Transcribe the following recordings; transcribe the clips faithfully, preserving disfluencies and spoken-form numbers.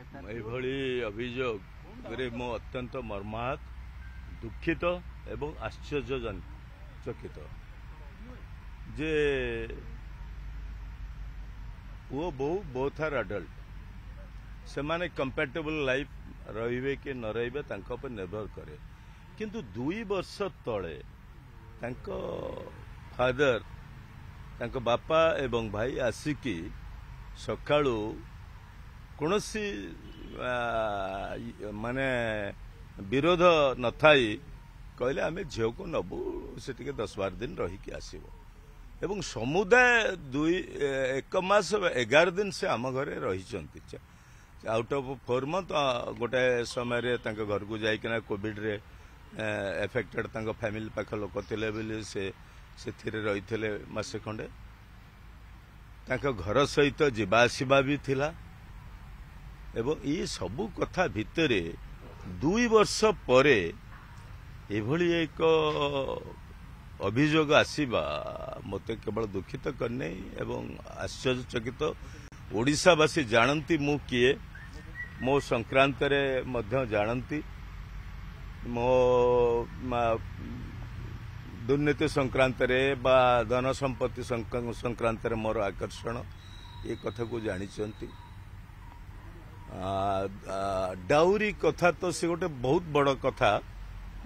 ଏଭଳି ଅଭିଯୋଗରେ ମୁଁ ଅତ୍ୟନ୍ତ ମର୍ମାହତ, ଦୁଃଖିତ ଏବଂ ଆଶ୍ଚର୍ଯ୍ୟଚକିତ ଯେ ପୁଅ ବୋହୂ ବୋଥ୍ ଆର୍ ଆଡଲ୍ଟ, ସେମାନେ କମ୍ପାଟେବଲ୍ ଲାଇଫ୍ ରହିବେ କି ନ ରହିବେ ତାଙ୍କ ଉପରେ ନିର୍ଭର କରେ। କିନ୍ତୁ ଦୁଇ ବର୍ଷ ତଳେ ତାଙ୍କ ଫାଦର, ତାଙ୍କ ବାପା ଏବଂ ଭାଇ ଆସିକି ସକାଳୁ କୌଣସି ମାନେ ବିରୋଧ ନଥାଇ କହିଲେ ଆମେ ଝିଅକୁ ନେବୁ, ସେ ଟିକେ ଦଶ ବାର ଦିନ ରହିକି ଆସିବ। ଏବଂ ସମୁଦାୟ ଦୁଇ ଏକ ମାସ ଏଗାର ଦିନ ସେ ଆମ ଘରେ ରହିଛନ୍ତି ଆଉଟ୍ ଅଫ୍ ଫୋର୍ ମନ୍ଥ। ଗୋଟେ ସମୟରେ ତାଙ୍କ ଘରକୁ ଯାଇକିନା କୋଭିଡରେ ଏଫେକ୍ଟେଡ୍ ତାଙ୍କ ଫ୍ୟାମିଲି ପାଖ ଲୋକ ଥିଲେ ବୋଲି ସେ ସେଥିରେ ରହିଥିଲେ ମାସେ ଖଣ୍ଡେ। ତାଙ୍କ ଘର ସହିତ ଯିବା ଆସିବା ବି ଥିଲା। ଏବଂ ଏ ସବୁ କଥା ଭିତରେ ଦୁଇ ବର୍ଷ ପରେ ଏଭଳି ଏକ ଅଭିଯୋଗ ଆସିବା ମୋତେ କେବଳ ଦୁଃଖିତ କରିନାହିଁ ଏବଂ ଆଶ୍ଚର୍ଯ୍ୟଚକିତ। ଓଡ଼ିଶାବାସୀ ଜାଣନ୍ତି ମୁଁ କିଏ, ମୋ ସଂକ୍ରାନ୍ତରେ ମଧ୍ୟ ଜାଣନ୍ତି, ମୋ ଦୁର୍ନୀତି ସଂକ୍ରାନ୍ତରେ ବା ଧନ ସମ୍ପତ୍ତି ସଂକ୍ରାନ୍ତରେ ମୋର ଆକର୍ଷଣ, ଏ କଥାକୁ ଜାଣିଛନ୍ତି। ଡାଉରି କଥା ତ ସେ ଗୋଟେ ବହୁତ ବଡ଼ କଥା।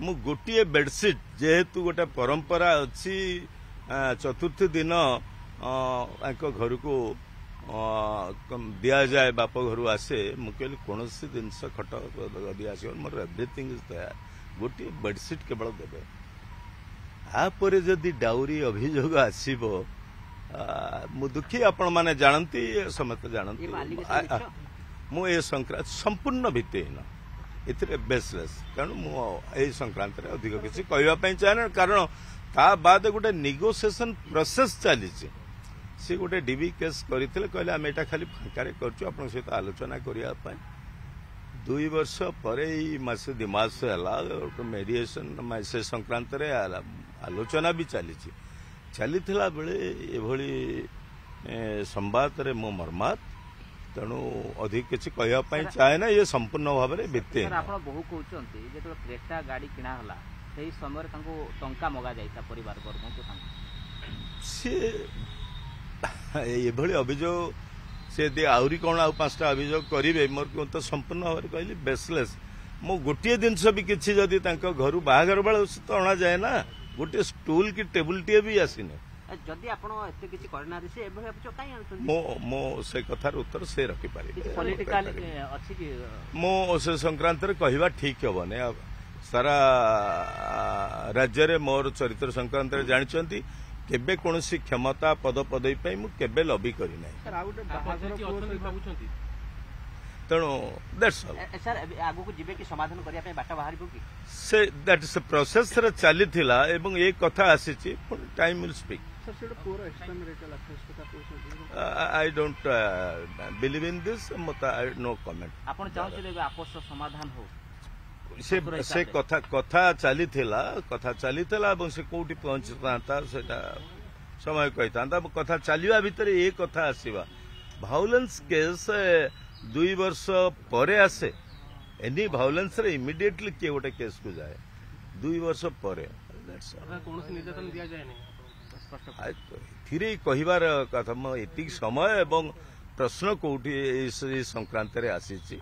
ମୁଁ ଗୋଟିଏ ବେଡସିଟ୍, ଯେହେତୁ ଗୋଟେ ପରମ୍ପରା ଅଛି ଚତୁର୍ଥୀ ଦିନ ତାଙ୍କ ଘରକୁ ଦିଆଯାଏ, ବାପ ଘରୁ ଆସେ, ମୁଁ କହିଲି କୌଣସି ଜିନିଷ ଖଟ ଦିଆସିବ, ମୋର ଏଭ୍ରିଥିଙ୍ଗ is there, ଗୋଟିଏ ବେଡସିଟ୍ କେବଳ ଦେବେ। ତାପରେ ଯଦି ଡାଉରି ଅଭିଯୋଗ ଆସିବ ମୁଁ ଦୁଃଖୀ। ଆପଣମାନେ ଜାଣନ୍ତି, ସମସ୍ତେ ଜାଣନ୍ତି ମୁଁ ଏ ସଂକ୍ରାନ୍ତ ସମ୍ପୂର୍ଣ୍ଣ ଭିତ୍ତିହୀନ, ଏଥିରେ ବେସଲେସ୍। ତେଣୁ ମୁଁ ଏହି ସଂକ୍ରାନ୍ତରେ ଅଧିକ କିଛି କହିବା ପାଇଁ ଚାହେଁ ନା, କାରଣ ତା ବାଦ ଗୋଟେ ନେଗୋସିଏସନ ପ୍ରୋସେସ୍ ଚାଲିଛି। ସେ ଗୋଟେ ଡିବି କେସ୍ କରିଥିଲେ, କହିଲେ ଆମେ ଏଇଟା ଖାଲି ଫାଙ୍କାରେ କରୁଛୁ ଆପଣଙ୍କ ସହିତ ଆଲୋଚନା କରିବା ପାଇଁ। ଦୁଇ ବର୍ଷ ପରେ ଏଇ ମାସେ ଦୁଇ ମାସ ହେଲା ଗୋଟେ ମେଡିଏସନ ସେ ସଂକ୍ରାନ୍ତରେ ଆଲୋଚନା ବି ଚାଲିଛି। ଚାଲିଥିଲା ବେଳେ ଏଭଳି ସମ୍ବାଦରେ ମୁଁ ମର୍ମାହତ, ତେଣୁ ଅଧିକ କିଛି କହିବା ପାଇଁ ଚାହେଁ ନା। ଇଏ ସମ୍ପୂର୍ଣ୍ଣ ଭାବରେ ଭିତ୍ତିହୀନ। ଆପଣ ବହୁ କହୁଛନ୍ତି ଯେତେବେଳେ କ୍ରେଟା ଗାଡି କିଣା ହେଲା ସେହି ସମୟରେ ତାଙ୍କୁ ଟଙ୍କା ମଗା ଯାଇଥିଲା ପରିବାର ବର୍ଗଙ୍କୁ ତାଙ୍କୁ। ସିଏ ଏଭଳି ଅଭିଯୋଗ ସେ ଯଦି ଆହୁରି କ'ଣ ଆଉ ପାଞ୍ଚଟା ଅଭିଯୋଗ କରିବେ, ମୋର ତ ସମ୍ପୂର୍ଣ୍ଣ ଭାବରେ କହିଲି ବେସଲେସ୍। ମୁଁ ଗୋଟିଏ ଜିନିଷ ବି କିଛି ଯଦି ତାଙ୍କ ଘରୁ ବାହାଘର ବେଳେ ତ ଅଣାଯାଏ ନା, ଗୋଟିଏ ଷ୍ଟୁଲ କି ଟେବୁଲଟିଏ ବି ଆସିନି। ଯଦି ଆପଣ ଏତେ କିଛି କରିନାହାନ୍ତି ସେ ଏଭଳି ଅଭିଯୋଗ କାହିଁ ଆଣୁଛନ୍ତି? ମୁଁ ମୁଁ ସେ କଥାର ଉତ୍ତର ସେ ରଖିପାରିବେ। ପଲିଟିକାଲ ଅଛି କି? ମୁଁ ସେ ସଂକ୍ରାନ୍ତରେ କହିବା ଠିକ ହବନି। ସାରା ରାଜ୍ୟରେ ମୋର ଚରିତ୍ର ସଂକ୍ରାନ୍ତରେ ଜାଣିଛନ୍ତି। କେବେ କୌଣସି କ୍ଷମତା ପଦ ପଦବୀ ପାଇଁ ମୁଁ କେବେ ଲବି କରିନାହିଁ। ତେଣୁ that's all. Sir ଆଗକୁ ଯିବେ କି ସମାଧାନ କରିବା ପାଇଁ ବାଟ ବାହାରିବ କି? ସେ that ସେ ପ୍ରୋସେସରେ ଚାଲିଥିଲା ଏବଂ ଏ କଥା ଆସିଛି, ପୁଣି time will speak. I don't believe in this, ମତେ ନୋ କମେଣ୍ଟ। ଆପଣ ଚାହୁଁଛନ୍ତି ଏବେ ଆପୋଷ ସମାଧାନ ହଉ? ସେ ସେ କଥା କଥା ଚାଲିଥିଲା, କଥା ଚାଲିଥିଲା ଏବଂ ସେ କୋଉଠି ପହଞ୍ଚିଥାନ୍ତା ସେଇଟା ସମୟ କହିଥାନ୍ତା। କଥା ଚାଲିବା ଭିତରେ ଏ କଥା ଆସିବା, ଭାଉଲେନ୍ସ କେସ୍ ଦୁଇ ବର୍ଷ ପରେ ଆସେ। ଏନି ଭାଉଲେନ୍ସରେ ଇମିଡିଏଟଲି କିଏ ଗୋଟେ କେସ୍କୁ ଯାଏ, ଦୁଇ ବର୍ଷ ପରେ। ଏଥିରେ କହିବାର କଥା ମୁଁ ଏତିକି ସମୟ ଏବଂ ପ୍ରଶ୍ନ କୋଉଠି ଏଇ ସଂକ୍ରାନ୍ତରେ ଆସିଛି।